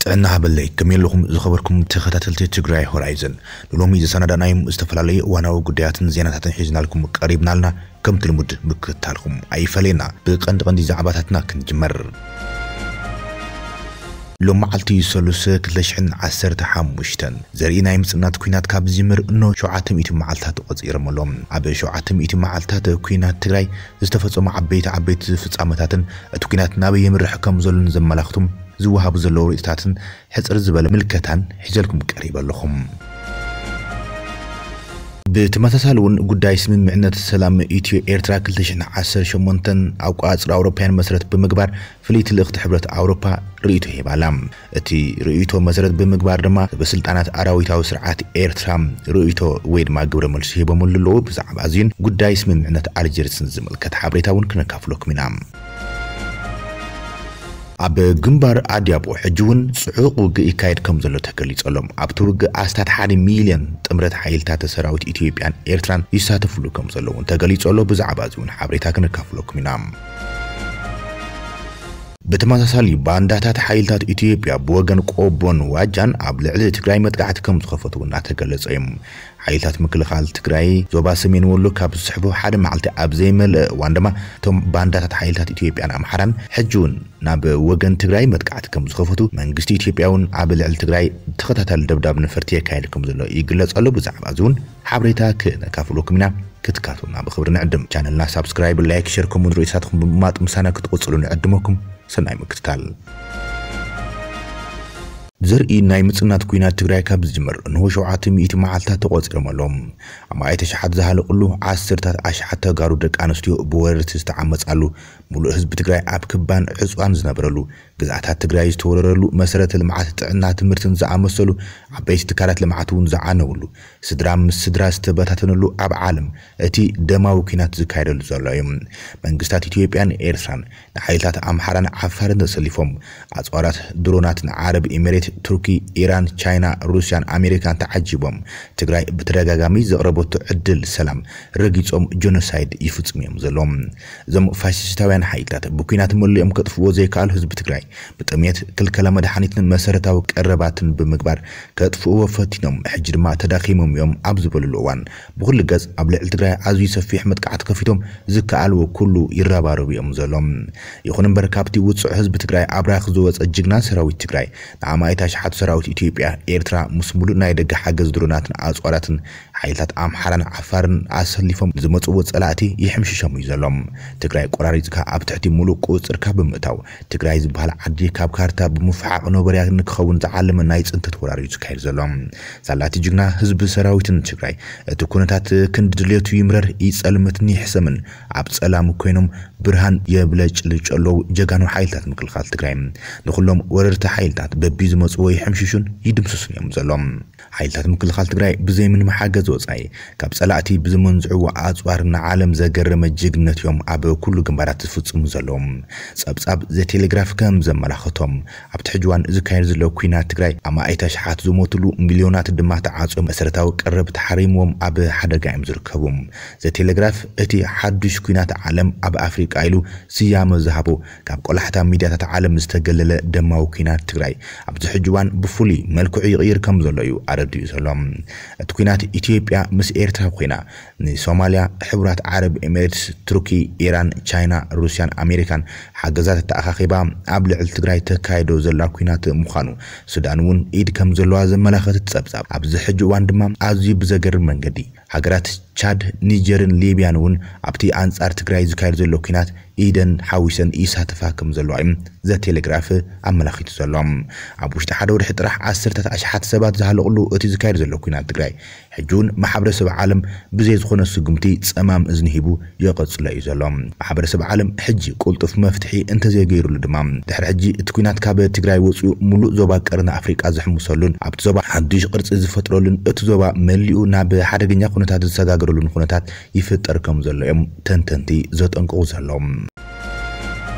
ጥዕና ሃበለይ፣ ከመይ ኣለኹም ዝኸበርኩም ተኸታተልቲ ትግራይ ሆራይዘን? ንሎሚ ዘሰናዳእናዮም ዝተፈላለዩ እዋናዊ ጉዳያትን ዜናታትን ሒዝናልኩም ቀሪብናልና። ከምቲ ልሙድ ምክትታልኩም ኣይፈለየና። ብቐንዲ ቀንዲ ዛዕባታትና ክንጅመር። ሎም መዓልቲ ሰሉስ ክልተ ሽሕን ዓሰርተ ሓሙሽተን ዘርኢ ናይ ምጽናት ኲናት ካብ ዝጅምር እኖ ሸውዓተ ሚእቲ መዓልታት ተቖጺሮም ኣለዉ። ኣብ ሸውዓተ ሚእቲ መዓልታት ኲናት ትግራይ ዝተፈጸሙ ዓበይቲ ዓበይቲ ፍጻመታትን እቲ ኲናት ናበይ የምርሕ ከም ዘሎን ዘመላኽቱ ዝወሃቡ ዘለዉ ርእይቶታትን ሕጽር ዝበለ ምልከታን ሒዘልኩም ቀሪበ ኣለኹም። ብተመሳሳሊ እውን ጉዳይ ስምምዕነት ሰላም ኢትዮ ኤርትራ ክልተ ሽሕን ዓሰርተ ሸሞንተን ኣቋጽራ ኣውሮፓውያን መሰረት ብምግባር ፍልይቲ ልእኽቲ ሕብረት ኣውሮፓ ርእይቶ ሂባ ኣላ። እቲ ርእይቶ መሰረት ብምግባር ድማ ሰበስልጣናት ኣራዊታዊ ስርዓት ኤርትራ ርእይቶ ወይ ድማ ግብረ መልሲ ሂቦምሉ ኣለዉ። ብዛዕባ እዚን ጉዳይ ስምምዕነት ኣልጀርስን ዝምልከት ሓበሬታ እውን ክነካፍለኩም ኢና። ኣብ ግንባር ኣድያቦ ሕጂ እውን ጽዑቕ ውግእ ይካየድ ከም ዘሎ ተገሊጹ ኣሎ። ኣብቲ ውግእ ኣስታት ሓደ ሚልዮን ጥምረት ሓይልታት ሰራዊት ኢትዮጵያን ኤርትራን ይሳተፍሉ ከም ዘለዉ እውን ተገሊጹ ኣሎ። ብዛዕባ እዚ እውን ሓበሬታ ክነካፍለኩም ኢና። ብተመሳሳሊ ባንዳታት ሓይልታት ኢትዮጵያ ብወገን ቆቦን ዋጃን ኣብ ልዕሊ ትግራይ መጥቃዕቲ ከም ዝኸፈቱ እውን እናተገለጸ እዩ። ሓይልታት ምክልኻል ትግራይ ዞባ ሰሜን ወሎ ካብ ዝስሕቡ ሓደ መዓልቲ ኣብ ዘይመልአ እዋን ድማ እቶም ባንዳታት ሓይልታት ኢትዮጵያን ኣምሓራን ሕጂ እውን ናብ ወገን ትግራይ መጥቃዕቲ ከም ዝኸፈቱ መንግስቲ ኢትዮጵያ እውን ኣብ ልዕሊ ትግራይ ተኸታታሊ ደብዳብ ነፈርቲ የካየድ ከም ዘሎ ይግለጽ ኣሎ። ብዛዕባ እዚ እውን ሓበሬታ ክነካፍለኩም ኢና። ክትካቱና ብኽብሪ ንዕድም። ቻነልና ሳብስክራይብ፣ ላይክ፣ ሸር ከምኡ ርእይቶታትኩም ብምማጥ ምሳና ክትቕጽሉ ንዕድመኩም። ሰናይ ምክትታል። ዘርኢ ናይ ምጽናት ኲናት ትግራይ ካብ ዝጅምር እንሆ ሸውዓተ ሚእቲ መዓልታት ተቖጺሮም ኣለዉ። ኣማኢት ኣሽሓት ዝሃለቕሉ፣ ዓሰርታት ኣሽሓት ተጋሩ ደቂ ኣንስትዮ ብወረርቲ ዝተዓመጻሉ፣ ሙሉእ ህዝቢ ትግራይ ኣብ ክባን ዕጽዋን ዝነበረሉ፣ ግዝኣታት ትግራይ ዝተወረረሉ፣ መሰረተ ልምዓት ጥዕና ትምህርትን ዝኣመሰሉ ዓበይቲ ትካላት ልምዓት እውን ዝዓነውሉ፣ ስድራ ምስ ስድራ ዝተበታተነሉ ኣብ ዓለም እቲ ደማዊ ኲናት ዝካየደሉ ዘሎ እዩ። መንግስታት ኢትዮጵያን ኤርትራን ንሓይልታት ኣምሓራን ዓፋርን ተሰሊፎም ኣጽዋራት ድሮናት ንዓረብ ኤሚሬት፣ ቱርኪ፣ ኢራን፣ ቻይና፣ ሩስያን ኣሜሪካን ተዓጂቦም ትግራይ ብተደጋጋሚ ዘቕረበቶ ዕድል ሰላም ረጊጾም ጆኖሳይድ ይፍጽሙ እዮም ዘለዉ። እዞም ፋሽስታውያን ሓይልታት ብኲናት መሊኦም ከጥፍዎ ዘይከኣሉ ህዝቢ ትግራይ ብጥሜት፣ ክልከላ መድሓኒትን መሰረታዊ ቀረባትን ብምግባር ከጥፍእዎ ፈቲኖም፣ ሕጂ ድማ ተዳኺሞም እዮም ኣብ ዝበሉሉ እዋን ብኹሉ ገጽ ኣብ ልዕሊ ትግራይ ኣዝዩ ሰፊሕ መጥቃዕቲ ከፊቶም ዝከኣልዎ ኩሉ ይረባረቡ እዮም ዘለዉ። ይኹን እምበር ካብቲ ውጹዕ ህዝቢ ትግራይ ኣብራኽ ዝወጸ ጅግና ሰራዊት ትግራይ ንኣማኢት ኣሽሓት ሰራዊት ኢትዮጵያ፣ ኤርትራ ምስ ሙሉእ ናይ ደገ ሓገዝ ድሮናትን ኣጽዋራትን ሓይልታት ኣምሓራን ዓፋርን ኣሰሊፎም ዝመጽዎ ጸላእቲ ይሕምሽሾም እዩ ዘሎ። ትግራይ ቆራሪጽካ ኣብ ትሕቲ ሙሉእ ቁጽርካ ብምእታው ትግራይ ዝበሃል ዓዲ ካብ ካርታ ብምፍሓቕ ኖበርያ ንክኸውን ዝዓለመ ናይ ጽንተት ወራር እዩ ዝካየድ ዘሎ። ሳላቲ ጅግና ህዝቢ ሰራዊትን ትግራይ እቲ ኩነታት ክንዲ ድልየቱ ይምረር ይጸልምትን ይሕሰምን ኣብ ጸላም ኮይኖም ብርሃን የብለጭልጭ ኣለዉ ጀጋኑ ሓይልታት ምክልኻል ትግራይ። ንኹሎም ወረርቲ ሓይልታት በቢ ዝመጽዎ ይሕምሽሹን ይድምስሱን እዮም ዘሎ። ሓይልታት ምክልኻል ትግራይ ብዘይ ምንም ሓገዝ ወጻኢ ካብ ጸላእቲ ብዝመንዝዕዎ ኣጽዋር ንዓለም ዘገረመ ጅግነት እዮም ኣብ ኩሉ ግንባራት ዝፍጽሙ ዘለዉ። ጸብጻብ ዘቴሌግራፍ ከም ዘመላኸቶም ኣብቲ ሕጂ እዋን ዝካየድ ዘሎ ኲናት ትግራይ ኣማኢት ኣሽሓት ዝሞትሉ፣ ሚልዮናት ድማ ተዓጽዮም መሰረታዊ ቀረብ ተሓሪምዎም ኣብ ሓደጋ እዮም ዝርከቡ። ዘቴሌግራፍ እቲ ሓዱሽ ኲናት ዓለም ኣብ ኣፍሪቃ ኢሉ ስያመ ዝሃቦ ካብ ቆላሕታ ሚድያታት ዓለም ዝተገለለ ደማዊ ኲናት ትግራይ ኣብዚ ሕጂ እዋን ብፍሉይ መልክዑ ይቕይር ከም ዘሎ እዩ ኣረዲኡ ዘሎ። እቲ ኲናት ኢትዮጵያ ምስ ኤርትራ ኮይና ንሶማልያ፣ ሕቡራት ዓረብ ኤሚሬትስ፣ ቱርኪ፣ ኢራን፣ ቻይና፣ ሩስያን ኣሜሪካን ሓገዛት ተኣኻኺባ ኣብ ልዕሊ ትግራይ ተካይዶ ዘላ ኲናት ምዃኑ፣ ሱዳን እውን ኢድ ከም ዘለዋ ዘመላኸት ጸብጻብ ኣብዚ ሕጂ እዋን ድማ ኣዝዩ ብዘገርም መንገዲ ሃገራት ቻድ፣ ኒጀርን ሊብያን እውን ኣብቲ ኣንጻር ትግራይ ዝካየድ ዘሎ ኲናት ኢደን ሓዊሰን ይሳተፋ ከም ዘለዋ እዩ ዘቴሌግራፍ ኣመላኺቱ ዘሎ። ኣብ ውሽጢ ሓደ ወርሒ ጥራሕ ዓሰርታት ኣሽሓት ሰባት ዝሃለቕሉ እቲ ዝካየድ ዘሎ ኲናት ትግራይ ሕጂ እውን ማሕበረሰብ ዓለም ብዘይ ዝኾነ ስጉምቲ ጸማም እዝኒ ሂቡ ይቕጽሎ እዩ ዘሎ። ማሕበረሰብ ዓለም ሕጂ ቁልጡፍ መፍትሒ እንተዘይገይሩሉ ድማ ድሕሪ ሕጂ እቲ ኲናት ካብ ትግራይ ወፂኡ ሙሉእ ዞባ ቀርኒ ኣፍሪቃ ዝሕምሰሉን ኣብቲ ዞባ ሓዱሽ ቅርፂ ዝፈጥረሉን እቲ ዞባ መሊኡ ናብ ሓደገኛ ኩነታት ዝሰጋገረሉን ኩነታት ይፍጠር ከም ዘሎ እዮም ተንተንቲ ዘጠንቅቑ ዘለዉ።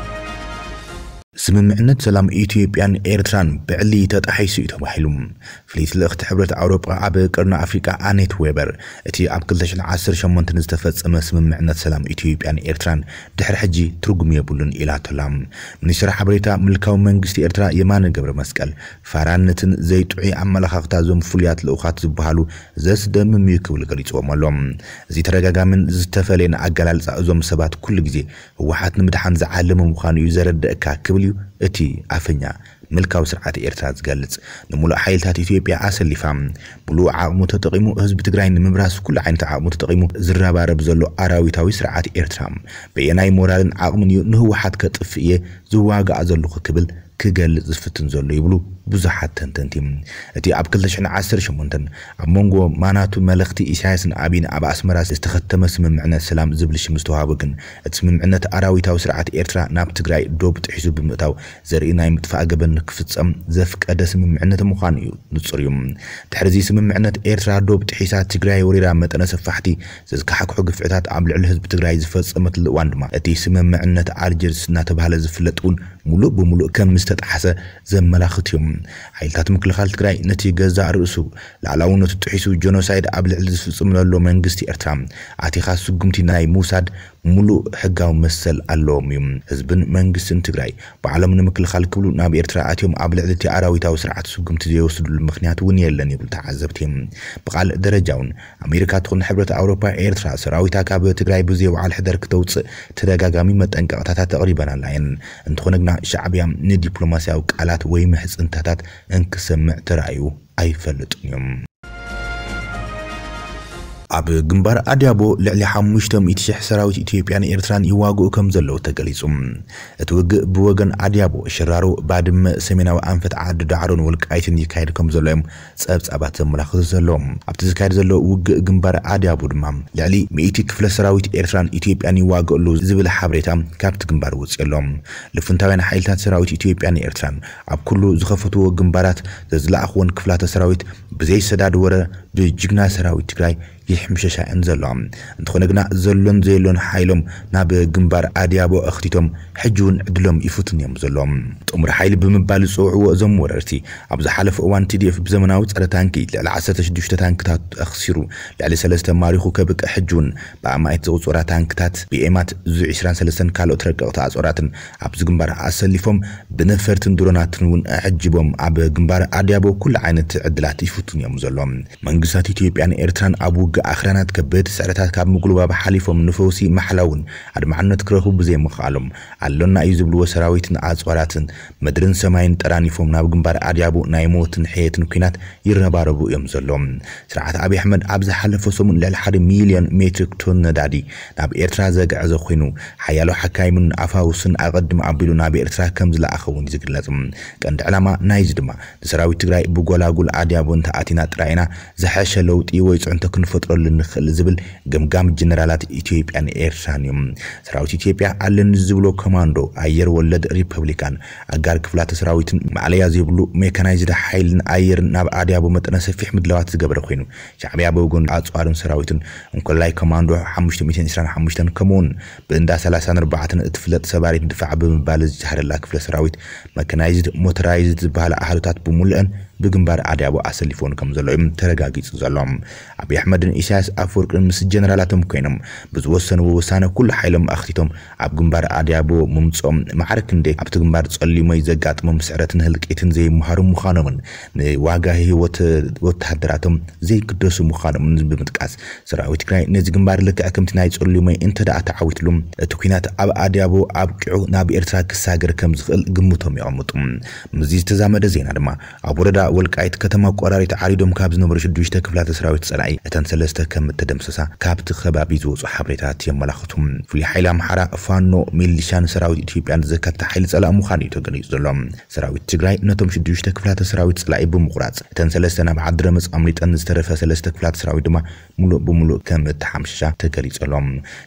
ስምምዕነት ሰላም ኢትዮጵያን ኤርትራን ብዕሊ ተጣሒሱ እዩ ተባሂሉ። ፍልይቲ ልእኽቲ ሕብረት ኣውሮጳ ኣብ ቅርኒ ኣፍሪቃ ኣኔት ዌበር፣ እቲ ኣብ ክልተ ሽሕን ዓሰርተ ሸሞንተን ዝተፈጸመ ስምምዕነት ሰላም ኢትዮጵያን ኤርትራን ድሕሪ ሕጂ ትርጉም የብሉን ኢላቶላ። ሚኒስትር ሓበሬታ ምልካዊ መንግስቲ ኤርትራ የማነ ገብረ መስቀል፣ ፋራነትን ዘይጥዑይ ኣመለኻኽታ እዞም ፍሉያት ልኡኻት ዝበሃሉ ዘስደምም እዩ ክብል ገሊጽዎም ኣሎ። እዚ ተደጋጋምን ዝተፈለየን ኣገላልጻ እዞም ሰባት ኩሉ ግዜ ህወሓት ንምድሓን ዝዓለመ ምዃኑ እዩ ዘረድእካ ክብል እዩ እቲ ኣፈኛ ምልካዊ ስርዓት ኤርትራ ዝገልጽ። ንምሉእ ሓይልታት ኢትዮጵያ ኣሰሊፋ፣ ምሉእ ዓቕሙ ተጠቒሙ ህዝቢ ትግራይ ንምብራስ ኩሉ ዓይነት ዓቕሙ ተጠቒሙ ዝረባረብ ዘሎ ኣራዊታዊ ስርዓት ኤርትራ፣ በየናይ ሞራልን ዓቕምን እዩ ንህወሓት ከጥፍእ እየ ዝዋጋእ ዘለኹ ክብል ክገልጽ ዝፍትን ዘሎ ይብሉ ብዙሓት ተንተንቲ። እቲ ኣብ ክልተ ሽሕን ዓሰርተ ሸሞንተን ኣብ መንጎ ማናቱ መለኽቲ ኢሳያስን ኣቢን ኣብ ኣስመራ ዝተኸተመ ስምምዕነት ሰላም ዝብል ሽም ዝተዋህቦ ግን፣ እቲ ስምምዕነት ኣራዊታዊ ስርዓት ኤርትራ ናብ ትግራይ ዶብ ጥሒሱ ብምእታው ዘርኢ ናይ ምጥፋእ ገበን ክፍጸም ዘፍቀደ ስምምዕነት ምዃኑ እዩ ንጹር እዩ። ድሕሪ እዚ ስምምዕነት ኤርትራ ዶብ ጥሒሳ ትግራይ ወሪራ መጠነ ሰፋሕቲ ዘዝካሕክሑ ግፍዕታት ኣብ ልዕሊ ህዝቢ ትግራይ ዝፈጸመትሉ እዋን ድማ፣ እቲ ስምምዕነት ኣልጀርስ እናተባህለ ዝፍለጥ እውን ሙሉእ ብሙሉእ ከም ዝተጣሕሰ ዘመላኽት እዩ። ሓይልታት ምክልኻል ትግራይ ነቲ ገዛእ ርእሱ ላዕላውነቱ ጥሒሱ ጀኖሳይድ ኣብ ልዕሊ ዝፍጽም ዘሎ መንግስቲ ኤርትራ ኣቲኻ ስጉምቲ ናይ ምውሳድ ሙሉእ ሕጋዊ መሰል ኣለዎም እዩ። ህዝብን መንግስትን ትግራይ ባዕሎም ንምክልኻል ክብሉ ናብ ኤርትራ ኣትዮም ኣብ ልዕሊ እቲ ኣራዊታዊ ስርዓት ስጉምቲ ዘይወስድሉ ምኽንያት እውን የለን ይብሉ ተዓዘብቲ። ብቓል ደረጃ እውን ኣሜሪካ ትኹን ሕብረት ኣውሮፓ ኤርትራ ሰራዊታ ካብ ትግራይ ብዘይ ወዓል ሕደር ክተውፅእ ተደጋጋሚ መጠንቀቕታታት ኣቕሪበናላ እየን። እንተኾነ ግና ሻዕብያ ንዲፕሎማስያዊ ቃላት ወይ ምሕጽንታታት እንክሰምዕ ተራእዩ ኣይፈልጥን እዩ። ኣብ ግንባር ኣድያቦ ልዕሊ ሓሙሽተ ሚእቲ ሽሕ ሰራዊት ኢትዮጵያን ኤርትራን ይዋግኡ ከም ዘለዉ ተገሊጹ። እቲ ውግእ ብወገን ኣድያቦ፣ ሽራሮ፣ ባድመ፣ ሰሜናዊ ኣንፈት ዓዲ ዳዕሮን ወልቃይትን ይካየድ ከም ዘሎ እዮም ጸብጻባት ዘመላኽቱ ዘለዉ። ኣብቲ ዝካየድ ዘሎ ውግእ ግንባር ኣድያቦ ድማ ልዕሊ ሚእቲ ክፍለ ሰራዊት ኤርትራን ኢትዮጵያን ይዋግኡ ኣለዉ ዝብል ሓበሬታ ካብቲ ግንባር ወጺኡ ኣሎ። ልፍንታውያን ሓይልታት ሰራዊት ኢትዮጵያን ኤርትራን ኣብ ኩሉ ዝኸፈትዎ ግንባራት ዘዝለኣኽወን ክፍላተ ሰራዊት ብዘይሰዳድ ወረ ብጅግና ሰራዊት ትግራይ ይሕምሸሻ እየን ዘለዋ። እንተኾነ ግና ዘሎን ዘየሎን ሓይሎም ናብ ግንባር ኣድያቦ ኣኽቲቶም ሕጂ እውን ዕድሎም ይፍትን እዮም ዘለዎም። ጥሙር ሓይሊ ብምባል ዝፅውዕዎ እዞም ወረርቲ፣ ኣብ ዝሓለፈ እዋን ቲ ዲ ኤፍ ብዘመናዊ ፀረ ታንኪ ልዕሊ ዓሰርተ ሽዱሽተ ታንክታት ኣኽሲሩ፣ ልዕሊ ሰለስተ ማሪኹ ከብቅዕ ሕጂ እውን ብኣማኢት ዝቑፀራ ታንክታት፣ ቢ ኤማት፣ ዙ ዕስራን ሰለስተን ካልኦት ረቀቕቲ ኣፅዋራትን ኣብዚ ግንባር ኣሰሊፎም ብነፈርትን ድሮናትን እውን ኣዐጅቦም ኣብ ግንባር ኣድያቦ ኩሉ ዓይነት ዕድላት ይፍትኑ እዮም ዘለዉ። መንግስታት ኢትዮጵያን ኤርትራን ኣብ ውግእ ኣኽራናት ከበድቲ ስዕረታት ካብ ምጉልባብ ሓሊፎም ንፈውሲ ማሕላ እውን ኣድማዕነት ክረኽቡ ብዘይምኽኣሎም፣ ኣሎና እዩ ዝብልዎ ሰራዊትን ኣጽዋራትን ምድርን ሰማይን ጠራኒፎም ናብ ግንባር ኣድያቦ ናይ ሞትን ሕየትን ኲናት ይረባረቡ እዮም ዘለዉ። ስርዓት ኣብይ ኣሕመድ ኣብ ዝሓለፈ ሰሙን ልዕሊ ሓደ ሚልዮን ሜትሪክ ቶን ነዳዲ ናብ ኤርትራ ዘግዐዘ ኮይኑ፣ ሓያሎ ሓካይምን ኣፋውስን ኣቐድም ኣቢሉ ናብ ኤርትራ ከም ዝለኣኸ እውን እዩ ዝግለጽ። ቀንዲ ዕላማ ናይዚ ድማ ንሰራዊት ትግራይ ብጎላጉል ኣድያቦ እንተኣቲና ጥራይ ኢና ዝሐሸ ለውጢ ወይ ፅዕንቶ ክንፈጥረሉ ንኽእል ዝብል ገምጋም ጀነራላት ኢትዮጵያን ኤርትራን እዩ። ሰራዊት ኢትዮጵያ ኣለኒ ዝብሎ ኮማንዶ ኣየር ወለድ ሪፐብሊካን ኣጋር ክፍላተ ሰራዊትን ማእለያ ዘይብሉ ሜካናይዝድ ሓይልን ኣየርን ናብ ኣድያቦ መጠነ ሰፊሕ ምድላዋት ዝገበረ ኮይኑ፣ ሻዕብያ ብወገኑ ኣፅዋርን ሰራዊትን እንኮላይ ኮማንዶ ሓሙሽተ ሚእትን ዕስራን ሓሙሽተን ከምኡውን ብእንዳ ሰላሳን ኣርባዕተን እትፍለጥ ሰባሪት ድፋዕ ብምባል ዝጀሃረላ ክፍለ ሰራዊት መካናይዝድ ሞተራይዝድ ዝበሃላ ኣሃዱታት ብምሉአን ብግንባር ኣድያቦ ኣሰሊፎን ከም ዘሎ እዮም ተረጋጊጹ ዘሎ። ኣብይ ኣሕመድን ኢሳያስ ኣፈወርቅን ምስ ጀነራላቶም ኮይኖም ብዝወሰንዎ ውሳነ ኩሉ ሓይሎም ኣኽቲቶም ኣብ ግንባር ኣድያቦ ምምጽኦም ማዕረ ክንደይ ኣብቲ ግንባር ጸሊሞይ ዘጋጥሞም ስዕረትን ህልቂትን ዘይመሃሩ ምዃኖምን ንዋጋ ህይወት ወተሃደራቶም ዘይግደሱ ምዃኖምን ብምጥቃስ፣ ሰራዊት ትግራይ ነዚ ግንባር ልክዕ ከምቲ ናይ ጸሊሞይ እንተ ደኣ ተዓዊትሉ፣ እቲ ኲናት ኣብ ኣድያቦ ኣብቂዑ ናብ ኤርትራ ክሳገር ከም ዝኽእል ግምቶም የቐምጡ። ምስዚ ዝተዛመደ ዜና ድማ፣ ኣብ ወረዳ ወልቃይት ከተማ ቆራሪት ዓሪዶም ካብ ዝነበሩ ሽዱሽተ ክፍላተ ሰራዊት ጸላኢ እተን ሰለስተ ከም እተደምሰሳ ካብቲ ከባቢ ዝወጹ ሓበሬታት የመላኽቱ። ፍሉይ ሓይሊ ኣምሓራ፣ ፋኖ፣ ሚሊሻን ሰራዊት ኢትዮጵያን ዘካተተ ሓይሊ ጸላኢ ምዃኑ እዩ ተገሊጹ ዘሎ። ሰራዊት ትግራይ ነቶም ሽዱሽተ ክፍላተ ሰራዊት ጸላኢ ብምቑራጽ፣ እተን ሰለስተ ናብ ዓዲ ረመጽ ኣምሊጠን ዝተረፈ ሰለስተ ክፍላተ ሰራዊት ድማ ሙሉእ ብሙሉእ ከም እተሓምሸሻ ተገሊጹ ኣሎ።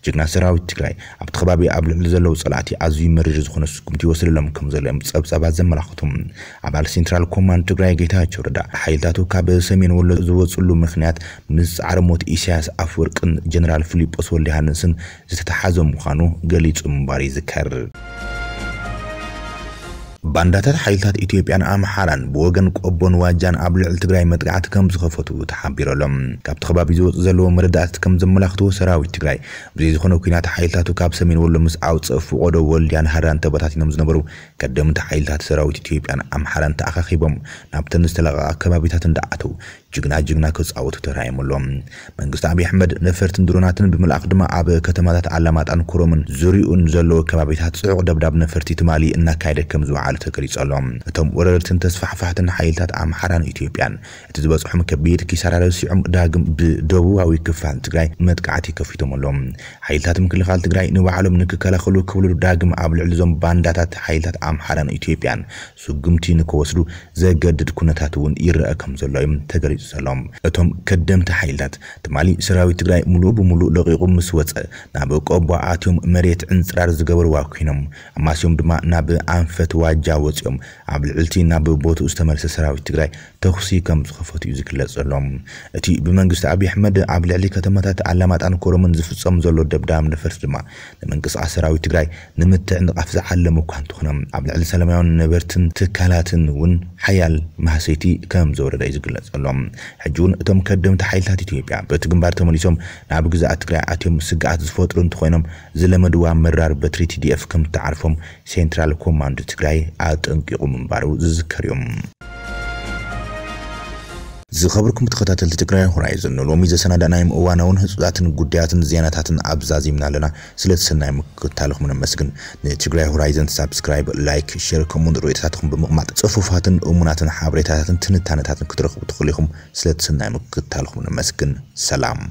ጅግና ሰራዊት ትግራይ ኣብቲ ከባቢ ኣብ ልዕሊ ዘለዉ ጸላእቲ ኣዝዩ መሪር ዝኾነ ስጉምቲ ይወስደሎም ከም ዘሎ እዮም ጸብጻባት ዘመላኽቱ። ኣባል ሴንትራል ኮማንድ ትግራይ ጌታቸው ረዳ፣ ሓይልታቱ ካብ ሰሜን ወሎ ዝወጽሉ ምኽንያት ምስ ጻዕሪ ሞት ኢሳያስ ኣፈወርቅን ጀነራል ፊሊጶስ ወልደሃንስን ዝተተሓዘ ምዃኑ ገሊጹ ምንባሩ ይዝከር። ባንዳታት ሓይልታት ኢትዮጵያን ኣምሓራን ብወገን ቆቦን ዋጃን ኣብ ልዕሊ ትግራይ መጥቃዕቲ ከም ዝኸፈቱ ተሓቢሩ ኣሎ። ካብቲ ከባቢ ዝወፁ ዘለዉ መረዳእታት ከም ዘመላኽትዎ፣ ሰራዊት ትግራይ ብዘይ ዝኾነ ኲናት ሓይልታቱ ካብ ሰሜን ወሎ ምስ ኣውፅእ፣ ፍቖዶ፣ ወልድያን ሃራን ተበታቲኖም ዝነበሩ ቀደምቲ ሓይልታት ሰራዊት ኢትዮጵያን ኣምሓራን ተኣኻኺቦም ናብተን ዝተለቐቓ ከባቢታት እንዳኣተው ጅግና ጅግና ክጻወቱ ተራእዮም ኣለዉ። መንግስቲ ኣብይ ኣሕመድ ነፈርትን ድሮናትን ብምልኣኽ ድማ ኣብ ከተማታት ኣላማጣን ኮረምን ዙሪኡን ዘለዉ ከባቢታት ጽዑቕ ደብዳብ ነፈርቲ ትማሊ እናካየደ ከም ዝወዓለ ተገሊጹ ኣሎ። እቶም ወረርትን ተስፋሕፋሕትን ሓይልታት ኣምሓራን ኢትዮጵያን እቲ ዝበጽሖም ከቢድ ኪሳራ ረሲዖም ዳግም ብደቡባዊ ክፋል ትግራይ መጥቃዕቲ ከፊቶም ኣለዉ። ሓይልታት ምክልኻል ትግራይ ንባዕሎም ንክከላኸሉ ክብሉ ዳግም ኣብ ልዕሊ እዞም ባንዳታት ሓይልታት ኣምሓራን ኢትዮጵያን ስጉምቲ ንክወስዱ ዘገድድ ኩነታት እውን ይረአ ከም ዘሎ እዩ ተገሊጹ ዘሎ። እቶም ከደምቲ ሓይልታት ትማሊ ሰራዊት ትግራይ ሙሉእ ብሙሉእ ለቒቑ ምስ ወጸ፣ ናብ ቆቦ ኣትዮም መሬት ዕንጽራር ዝገበርዋ ኮይኖም፣ ኣማስዮም ድማ ናብ ኣንፈት ዋጃ ወጺኦም ኣብ ልዕልቲ ናብ ቦትኡ ዝተመልሰ ሰራዊት ትግራይ ተኹሲ ከም ዝኸፈቱ እዩ ዝግለጽ ዘሎ። እቲ ብመንግስቲ ኣብይ ኣሕመድ ኣብ ልዕሊ ከተማታት ኣላማጣን ኮረምን ዝፍጸም ዘሎ ደብዳብ ነፈርቲ ድማ ንምንቅስቓስ ሰራዊት ትግራይ ንምትዕንቓፍ ዝዓለመ እኳ እንተኾነ፣ ኣብ ልዕሊ ሰላማውያን ነበርትን ትካላትን እውን ሓያል ማህሰይቲ ከም ዘውረደ እዩ ዝግለጽ ዘሎ። ሕጂ እውን እቶም ከደምቲ ሓይልታት ኢትዮጵያ በቲ ግንባር ተመሊሶም ናብ ግዝኣት ትግራይ ኣትዮም ስግኣት ዝፈጥሩ እንተኾይኖም፣ ዝለመድዋ መራር በትሪ ቲ ዲ ኤፍ ከም እትዓርፎም ሴንትራል ኮማንድ ትግራይ ኣጠንቂቑ ምንባሩ ዝዝከር እዩ። ዝኸበርኩም ተኸታተልቲ ትግራይ ሆራይዘን፣ ንሎሚ ዘሰናዳእናዮም እዋናውን ህጹጻትን ጉዳያትን ዜናታትን ኣብ ዛዚምና ኣለና። ስለ ትሰናይ ምክትታልኹም ነመስግን። ንትግራይ ሆራይዘን ሳብስክራይብ፣ ላይክ፣ ሼር፣ ከምኡውን ርእይቶታትኩም ብምቕማጥ ጽፉፋትን እሙናትን ሓበሬታታትን ትንታነታትን ክትረኽቡ ትኽእሉ ኢኹም። ስለ ትሰናይ ምክትታልኹም ነመስግን። ሰላም።